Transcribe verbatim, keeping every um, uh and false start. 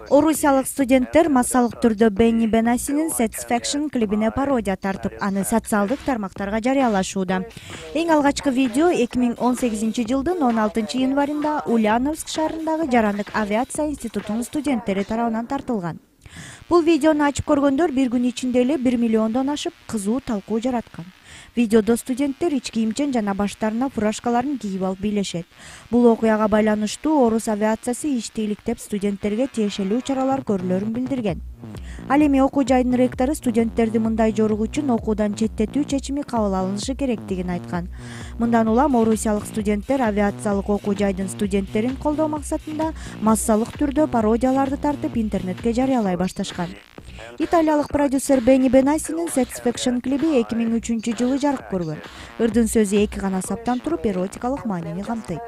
Орусиялык студенттер массалык түрдө Бенни Бенасинин Satisfaction клибине пародия тартып, аны социалдык тармактарга жарыялашууда. Эң алгачкы видео эки миң он сегизинчи жылдын он алтынчы январында Ульяновск шаарындагы Жарандык авиация институтунун студенттери тарабынан тартылган. Бул видеону ачып көргөндөр бир күн ичинде эле бир миллиондон ашып кызуу талкуу жараткан. Видеодо студенттер ич кийимчен жана баштарына фуражкаларын кийип алып бийлешет. Бул окуяга байланыштуу Орус авиациясы ишти иликтеп студенттерге тиешелүү чаралар көрүлөрүн билдирген. Ал эми окуу жайдын ректору студенттерди мындай жорук үчүн окуудан четтетүү чечими кабыл алынышы керектигин айткан. Мындан улам орусиялык студенттер авиациялык окуу жайдын студенттерин колдоо максатында массалык түрдө пародияларды тартып интернетке жарыялай башташкан. Италиялык продюсер Бенни Бенасинин Satisfaction клиби эки миң үчүнчү жылы жарык көргөн. Ырдын сөзү эки гана саптан туруп эротикалык маанини камтыйт.